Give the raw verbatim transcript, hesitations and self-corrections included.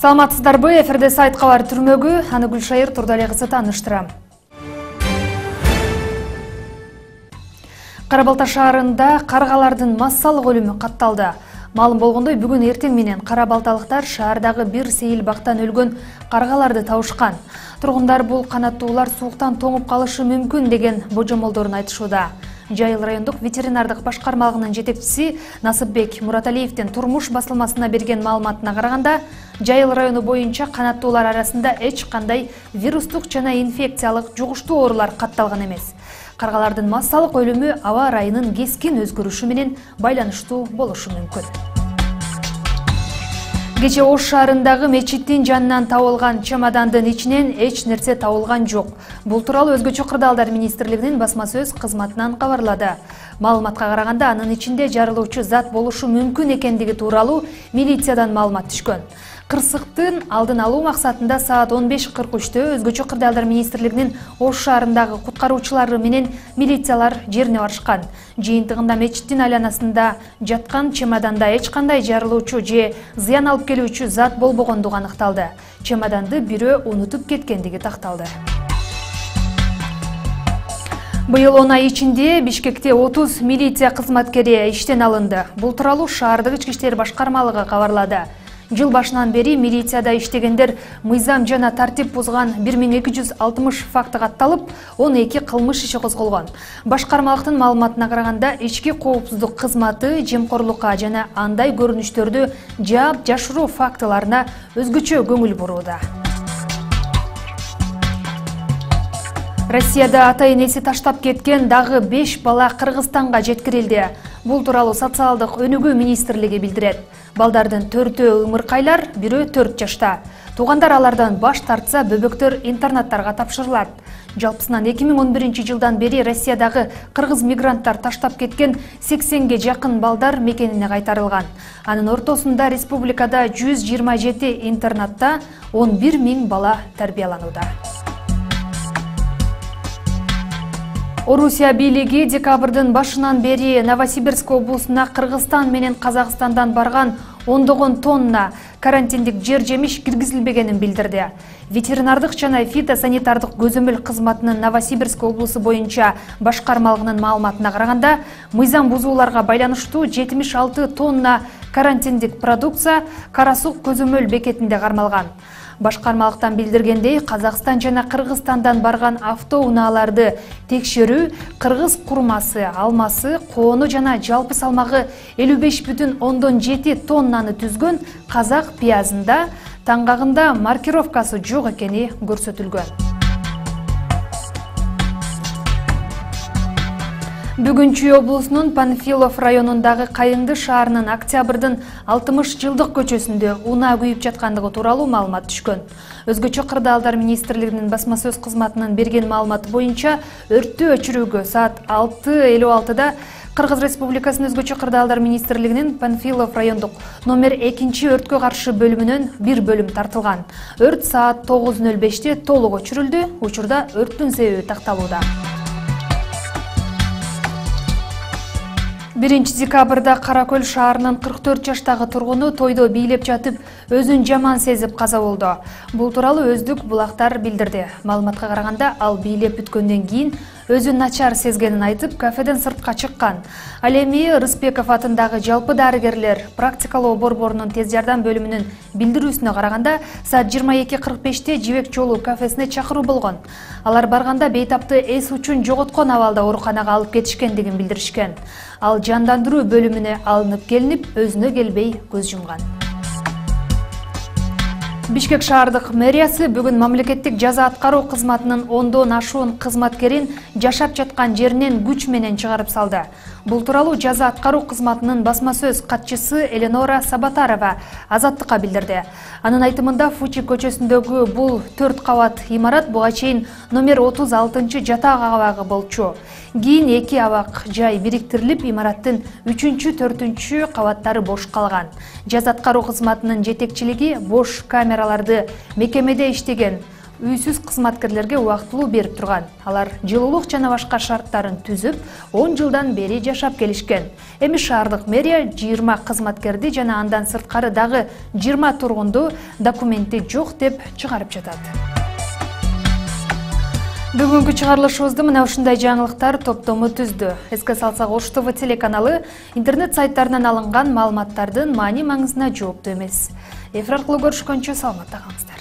Саламатсыздарбы, эфирде сайт кабар түрмөгү, аны Гүлшайыр Турдалия кызы тааныштырам. Кара Балта шаарында каргалардын массалык өлүмү катталды. Маалым болгондой, бүгүн эртең менен кара балталыктар шаардагы бир сейил бактан өлгөн каргаларды табышкан. Тургундар бул канаттуулар сууктан тоңуп калышы мүмкүн деген божомолдорун айтышууда. Жайыл райондук ветеринардык башкармалыгынын жетекчиси Насыпбек Мураталиевдин турмуш басылмасына берген маалыматына караганда, Жайыл району боюнча канаттуулар арасында эч кандай вирустук жана инфекциялык жугуштуу оорулар катталган эмес. Каргалардын массалык өлүмү аба ырайынын кескин өзгөрүшү менен байланыштуу болушу мүмкүн. Кече Ош шаарындагы мечиттин жанынан табылган чемодандын ичинен эч нерсе табылган жок. Бул тууралуу Өзгөчө кырдаалдар министрлигинин басма сөз кызматынан кабарлады. Маалыматка караганда, анын ичинде жарылуучу зат болушу мүмкүн экендиги тууралуу милициядан маалымат түшкөн. Кырсыктын алдын алуу максатында саат он беш кырк үчтө Өзгөчө кырдаалдар министрлигинин Ош шаарындагы куткаруучулары менен милициялар жерине барышкан. Жыйынтыгында мечиттин айланасында жаткан чемоданда эч кандай жарылуучу же зыян алып келүүчү зат болбогондугу аныкталды. Чемоданды бирөө унутуп кеткендиги такталды. Быйыл он ай ичинде Бишкекте отуз милиция кызматкери иштен алынды. Бул тууралуу шаардык ички иштер башкармалыгы кабарлады. Жыл башынан бери милицияда иштегендер мыйзам жана тартип бузган бир миң эки жүз алтымыш факты катталып, он эки кылмыш иши козголгон. Башкармалыктын маалыматына караганда, ички коопсуздук кызматы жемкорлукка жана андай көрүнүштөрдү жаап жашыруу фактыларына өзгөчө көңүл бурууда. Россияда ата-энеси таштап кеткен дагы беш бала Кыргызстанга жеткирилди. Бул тууралуу социалдык өнүгүү министрлиги билдирет. Балдардын төртөө ымыркайлар, бирөө төрт жашта. Туугандар алардан баш тартса, бөбөктөр интернаттарга тапшырылат. Жалпысынан эки миң он биринчи жылдан бери Россиядагы кыргыз мигранттар таштап кеткен сексенге жакын балдар мекенине кайтарылган. Анын ортосунда республикада жүз жыйырма жети интернатта он бир миң бала тарбияланууда. Орусия бийлиги декабрдын башынан бери Новосибирск облусуна Кыргызстан менен Казакстандан барган ондогон тонна карантиндик жер-жемиш киргизилбегенин билдирди. Ветеринардык жана фитосанитардык көзөмөл кызматынын Новосибирск облусу боюнча башкармалыгынын маалыматына караганда, мыйзам бузууларга байланыштуу жетимиш алты тонна карантиндик продукция Кара Сук көзөмөл бекетинде кармалган. Башкармалыктан билдиргендей, Казакстан жана Кыргызстандан барган автоунааларды текшерүү кыргыз курмасы, алмасы, коону жана жалпы салмагы элүү беш бүтүн ондон жети тоннаны түзгөн казак пиязында таңгагында маркировкасы жок экени көрсөтүлгөн. Бүгүн Чүй облусунун Панфилов районундагы Кайыңды шаарынын Октябрдын алтымыш жылдык көчөсүндө унаа күйүп жаткандыгы тууралуу маалымат түшкөн. Өзгөчө кырдаалдар министрлигинин басма сөз кызматынын берген маалыматы боюнча, өрттү өчүрүүгө саат алты элүү алтыда Кыргыз Республикасынын Өзгөчө кырдаалдар министрлигинин Панфилов райондук номер экинчи өрткө каршы бөлүмүнөн бир бөлүм тартылган. Өрт саат тогуз нөл беште толук өчүрүлдү. Учурда өрттүн себеби такталууда. биринчи декабрда Каракөл шаарынын кырк төрт жаштагы тургуну тойдо бийлеп жатып, өзүн жаман сезип каза болду. Бул тууралуу Өздүк булактар билдирди. Маалыматка караганда, ал бийлеп бүткөндөн кийин өзүн начар сезгенин айтып, кафеден сыртка чыккан. Ал эми Рыспеков атындагы жалпы дарыгерлер практикалоо борборунун тез жардам бөлүмүнүн билдирүүсүнө караганда, саат жыйырма эки кырк беште Жибек жолу кафесине чакыруу болгон. Алар барганда бейтапты эс учун жоготкон абалда ооруканага алып кетишкендигин билдиришкен. Ал жандандыруу бөлүмүнө алынып келинип, өзүнө келбей көз жумган. Бишкек шаардык мэриясы бүгүн мамлекеттик жаза аткаруу кызматынын ондон ашуун кызматкерин жашап жаткан жеринен күч менен чыгарып салды. Бул тууралуу жаза аткаруу кызматынын басма сөз катчысы Эленора Сабатарова Азаттыкка билдирди. Анын айтымында, Фучи көчөсүндөгү бул төрт кабат имарат буга чейин номер отуз алтынчы жатак абагы болчу. Кийин эки абак жай бириктирилип, имараттын үчүнчү, төртүнчү кабаттары бош калган. Жаза аткаруу кызматынын жетекчилиги бош камераларды мекемеде иштеген үйсүз кызматкерлерге убактылуу берип турган. Алар жылуулук жана башка шарттарын түзүп, он жылдан бери жашап келишкен. Эми шаардык мэрия жыйырма кызматкерди жана андан сырткары дагы жыйырма тургунду документи жок деп чыгарып жатат. Бүгүнкү чыгарылышыбызды мына ушундай жаңылыктар топтому түздү. Эске салсак, Ош ТВ телеканалы интернет сайттарынан алынган маалыматтардын маани маңызына жооптуу эмес. Эфир аркылуу көрүшкөнчө саламатта калыңыздар.